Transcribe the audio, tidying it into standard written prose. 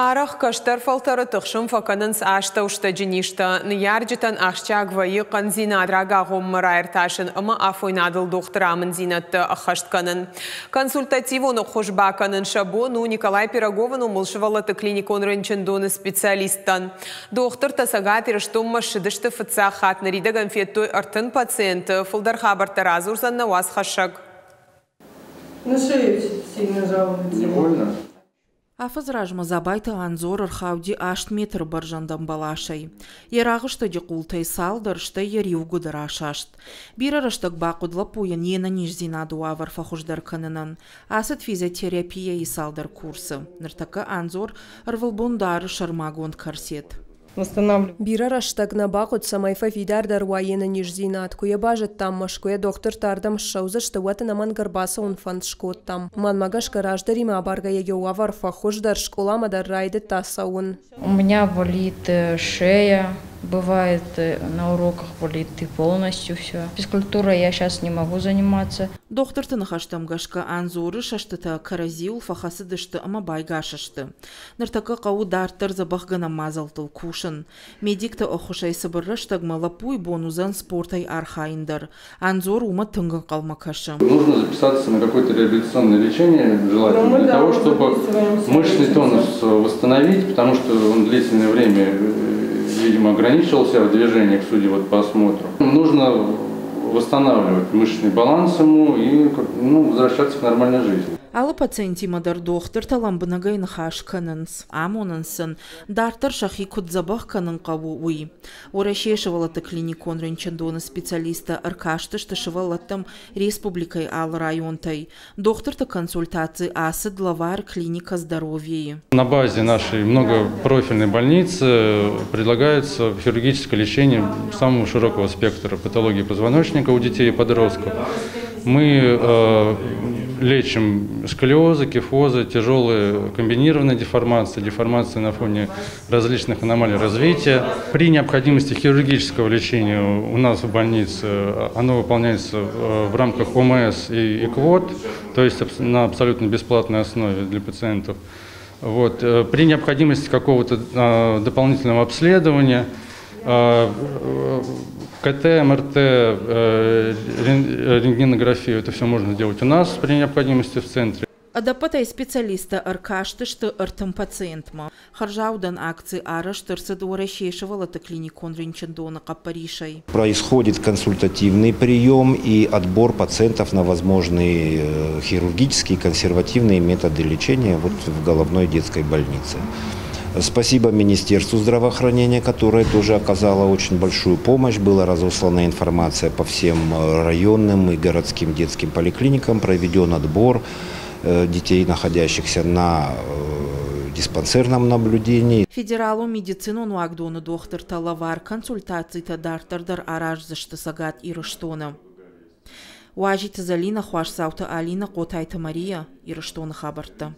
Арӕх кӕстӕр фӕлтӕры тыхсын фӕкӕнынц астӕустӕджы низтӕ. Ныййарджытӕн ахсджиаг вӕййы хъӕндзинад рагагъоммӕ раиртасын ӕмӕ афойнадыл дохтыры амынддзинӕдтӕ ӕххӕст кӕнын. Консультативон ӕххуыс бакӕнын сӕ бон у Николай Пироговы номыл сывӕллӕтты клиникон рынчындоны специалисттӕн. Дохтыртӕ Цӕгат Ирыстонмӕ ссыдысты фыццаг хатт, ныридӕгӕн федтой 30 пациенты. Фылдӕр хабӕрттӕ радзурдзӕн нӕ уацхӕссӕг. На шею сильно жалуется. Не больно? Афӕдзы размӕ Дзабайты Ӕнзор ӕрхауди 8 метры бӕрзӕндӕн бӕласӕй. Йӕ рагъыстӕджы къултӕй цалдӕр, стӕй йӕ риугуыдыр асаст. Бирӕ рӕстӕг бахъуыд лӕппуйӕн йе нӕниздзинады уавӕр фӕхуыздӕр кӕнынӕн. Ацыд физиотерапияйы цалдӕр курсы. Ныртӕккӕ Ӕнзор ӕрвылбон дары сӕрмагонд корсет. Бирӕ рӕстӕг нӕ бахъуыд, цӕмӕй фӕфидардӕр уа йе нӕниздзинад. Куы йӕ базыдтам, Мӕскуыйӕ дохтыртӕ ардӕм ссӕудзысты, уӕд ӕнӕмӕнг ӕрбацӕуын фӕнд скодтам. Мӕнмӕ гӕсгӕ, раздӕримӕ абаргӕйӕ йӕ уавӕр фӕхуыздӕр, скъоламӕ дӕр райдыдта цӕуын. У меня болит шея, бывает на уроках болит и полностью все. Физкультурой я сейчас не могу заниматься. Дохтырты ныхӕстӕм гӕсгӕ Ӕнзоры сӕстытӕ кӕрӕдзиуыл фӕхӕцыдысты ӕмӕ байгас сты. Ныртӕккӕ хъӕуы дарддӕр дзӕбӕхгӕнӕн мадзӕлттыл кусын. Медикты ӕххуысӕй цыбыр рӕстӕгмӕ лӕппуйы бон уыдзӕн спортӕй архайын дӕр. Ӕнзор уымӕ тынг ӕнхъӕлмӕ кӕсы. Нужно записаться на какое-то реабилитационное лечение, желательно, Ну, мы, для да, того, мы чтобы записываемся. Мышечный тонус восстановить, потому что он длительное время, видимо, ограничивался в движениях, судя вот по осмотру. Нужно восстанавливать мышечный баланс ему и, ну, возвращаться к нормальной жизни. Алы пациентимӕ дӕр дохтыртӕ лӕмбынӕгӕй ныхас кӕнынц, амонынц сын, дарддӕр сӕхи куыд дзӕбӕх кӕнын хъӕуы, уый. Уӕрӕсейы сывӕллӕтты клиникон рынчындоны специалисттӕ ӕркастысты сывӕллӕттӕм республикӕйы алы районтӕй. Дохтырты консультаци ацыд лӕвар клиника «Здоровье». На базе нашей многопрофильной больницы предлагается хирургическое лечение самого широкого спектра патологии позвоночника у детей и подростков. Мы лечим сколиозы, кифозы, тяжелые комбинированные деформации, деформации на фоне различных аномалий развития. При необходимости хирургического лечения у нас в больнице оно выполняется в рамках ОМС и квот, то есть на абсолютно бесплатной основе для пациентов. Вот. При необходимости какого-то дополнительного обследования, КТ, МРТ, рентгенографию, это все можно сделать у нас при необходимости в центре. Ӕдӕппӕтӕй специалисттӕ ӕркастысты 30 пациентмӕ. Хӕрзаудӕн акци арӕзт ӕрцыд Уӕрӕсейы сывӕллӕтты клиникон рынчындоны хъӕппӕрисӕй. Происходит консультативный прием и отбор пациентов на возможные хирургические, консервативные методы лечения вот в головной детской больнице. Спасибо Министерству здравоохранения, которое тоже оказало очень большую помощь. Была разослана информация по всем районным и городским детским поликлиникам, проведен отбор детей, находящихся на диспансерном наблюдении. Федералон медицинон уагдоны дохтыртӕ лӕвар консультацитӕ дарддӕр дӕр араздзысты Цӕгат Ирыстоны. Уазиты Залина, Хуасдзауты Алина, Хъотайты Мария, Ирыстоны хабӕрттӕ.